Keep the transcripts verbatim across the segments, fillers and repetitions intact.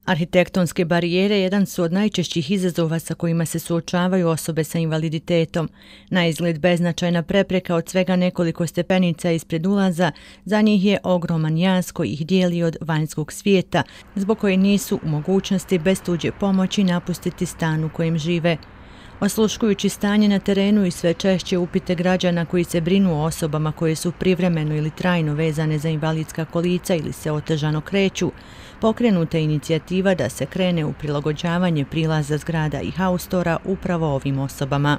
Arhitektonske barijere jedan su od najčešćih izazova sa kojima se suočavaju osobe sa invaliditetom. Na izgled beznačajna prepreka od svega nekoliko stepenica ispred ulaza, za njih je ogroman jaz koji ih dijeli od vanjskog svijeta, zbog koje nisu u mogućnosti bez tuđe pomoći napustiti stan u kojem žive. Osluškujući stanje na terenu i sve češće upite građana koji se brinu o osobama koje su privremeno ili trajno vezane za invalidska kolica ili se otežano kreću, pokrenuta je inicijativa da se krene u prilagođavanje prilaza zgrada i haustora upravo ovim osobama.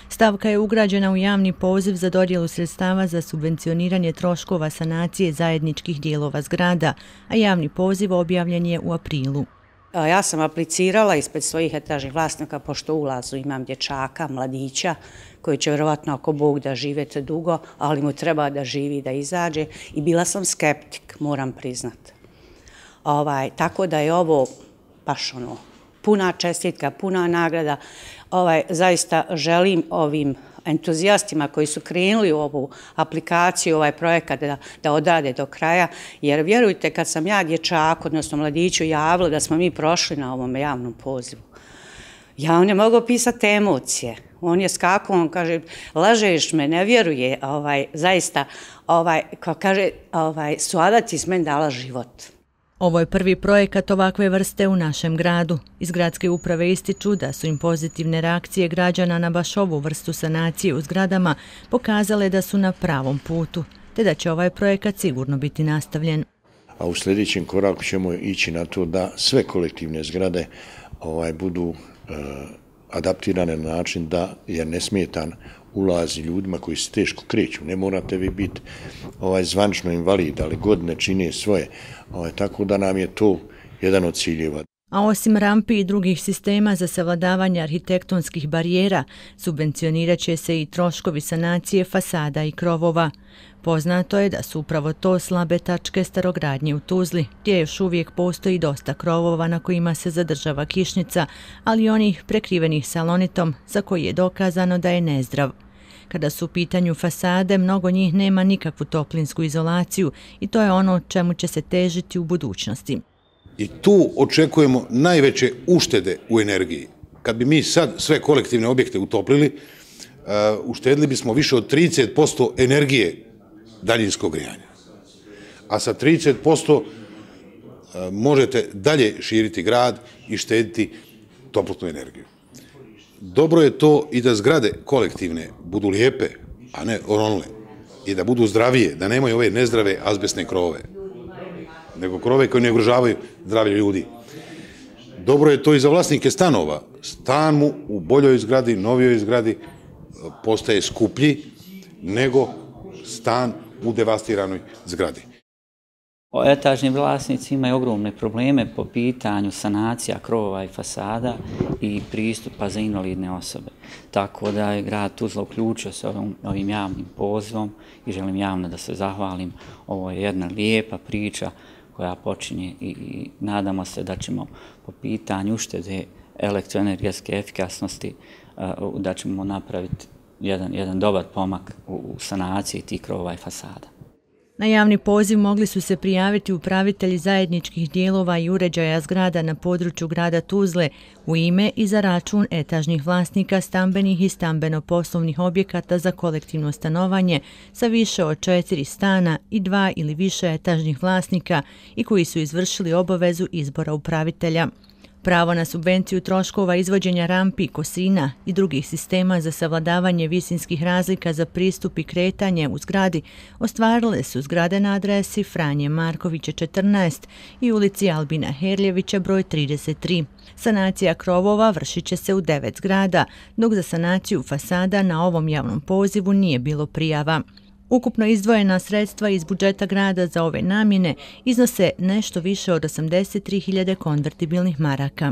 Stavka je ugrađena u javni poziv za dodjelu sredstava za subvencioniranje troškova sanacije zajedničkih dijelova zgrada, a javni poziv objavljen je u aprilu. Ja sam aplicirala ispred svojih etažnih vlasnika, pošto u ulazu imam dječaka, mladića, koji će vjerovatno ako Bog da živete dugo, ali mu treba da živi, da izađe. I bila sam skeptik, moram priznati. Ovaj, tako da je ovo baš ono, puna čestitka, puna nagrada. Ovaj, zaista želim ovim entuzijastima koji su krenuli u ovu aplikaciju, ovaj projekat da, da odrade do kraja, jer vjerujte kad sam ja dječaku, odnosno mladiću javila da smo mi prošli na ovom javnom pozivu, ja on je mogao pisati emocije. On je skakao, on kaže, lažeš me, ne vjeruje, ovaj, zaista, ovaj, kao kaže, ovaj, Suada ti s meni dala život. Ovo je prvi projekat ovakve vrste u našem gradu. Iz gradske uprave ističu da su im pozitivne reakcije građana na baš ovu vrstu sanacije u zgradama pokazale da su na pravom putu, te da će ovaj projekat sigurno biti nastavljen. A u sljedećem koraku ćemo ići na to da sve kolektivne zgrade ovaj, budu e, adaptirane na način da je nesmetan ulazi ljudima koji se teško kreću. Ne morate vi biti ovaj, zvanično invalid, ali godine čine svoje. Ovaj, tako da nam je to jedan od ciljeva. A osim rampi i drugih sistema za savladavanje arhitektonskih barijera, subvencionirat će se i troškovi sanacije fasada i krovova. Poznato je da su upravo to slabe tačke starogradnje u Tuzli, gdje još uvijek postoji dosta krovova na kojima se zadržava kišnica, ali onih prekrivenih salonitom za koji je dokazano da je nezdrav. Kada su u pitanju fasade, mnogo njih nema nikakvu toplinsku izolaciju i to je ono čemu će se težiti u budućnosti. I tu očekujemo najveće uštede u energiji. Kad bi mi sad sve kolektivne objekte utoplili, uštedili bismo više od trideset posto energije daljinskog grijanja. A sa trideset posto možete dalje širiti grad i štediti toplotnu energiju. Dobro je to i da zgrade kolektivne budu lijepe, a ne oronule, i da budu zdravije, da nemaju ove nezdrave azbestne krovove, nego krove koje ne ugrožavaju zdravlje ljudi. Dobro je to i za vlasnike stanova. Stan mu u boljoj zgradi, novijoj zgradi postaje skuplji nego stan u devastiranoj zgradi. Etažni vlasnici imaju ogromne probleme po pitanju sanacija krovova i fasada i pristupa za invalidne osobe. Tako da je grad Tuzla uključio se ovim, ovim javnim pozivom i želim javno da se zahvalim. Ovo je jedna lijepa priča koja počinje i, i nadamo se da ćemo po pitanju uštede elektroenergetske efikasnosti uh, da ćemo napraviti jedan, jedan dobar pomak u, u sanaciji tih krovova i fasada. Na javni poziv mogli su se prijaviti upravitelji zajedničkih dijelova i uređaja zgrada na području grada Tuzle u ime i za račun etažnih vlasnika stambenih i stambeno-poslovnih objekata za kolektivno stanovanje sa više od četiri stana i dva ili više etažnih vlasnika i koji su izvršili obavezu izbora upravitelja. Pravo na subvenciju troškova izvođenja rampi, kosina i drugih sistema za savladavanje visinskih razlika za pristup i kretanje u zgradi ostvarile su zgrade na adresi Franje Markovića četrnaest i ulici Albina Herljevića broj trideset tri. Sanacija krovova vršit će se u devet zgrada, dok za sanaciju fasada na ovom javnom pozivu nije bilo prijava. Ukupno izdvojena sredstva iz budžeta grada za ove namjene iznose nešto više od osamdeset tri hiljade konvertibilnih maraka.